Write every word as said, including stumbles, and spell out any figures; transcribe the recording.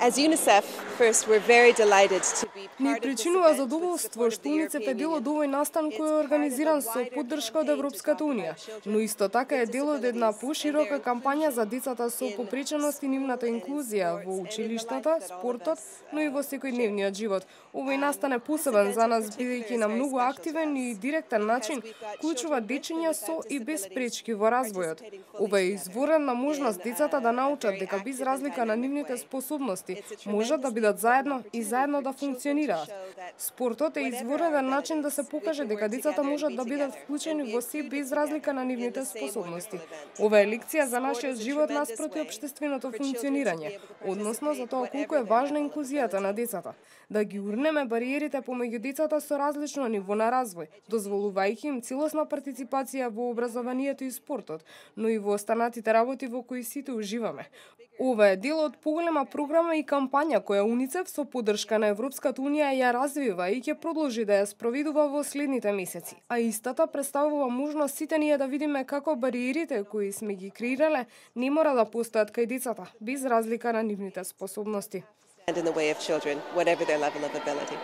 As UNICEF, first, we're very delighted to be Ни part of this причинува event with задоволство support of што the УНИЦЕФ е European дел од Union. овој настан кој е организиран со поддршка од Европската унија, но исто така е дел од една поширока кампања за децата со попреченост и нивната инклузија во училиштата, спортот, но и во секојдневниот живот. Овој настан е посебен за нас бидејќи на многу активен и директен начин вклучува дечиња со и без пречки во развојот. Ова е изворена можност децата да научат дека без разлика на нивните способности можат да бидат заедно и заедно да функционираат. Спортот е изворен начин да се покаже дека децата можат да бидат вклучени во се без разлика на нивните способности. Ова е лекција за нашиот живот наспроти општественото функционирање, односно за тоа колку е важна инклузијата на децата. Да ги урнеме бариерите помеѓу децата со различно ниво на развој, дозволувајќи им целосна партиципација во образованието и спортот, но и во останатите работи во кои сите уживаме. Ова е дел од поголема програма и кампања која УНИЦЕФ со поддршка на Европската унија ја развива и ќе продолжи да ја спроведува во следните месеци. А истата представува можност сите ние да видиме како бариерите кои сме ги креирале не мора да постојат кај децата, без разлика на нивните способности. And in the way of children, whatever their level of ability.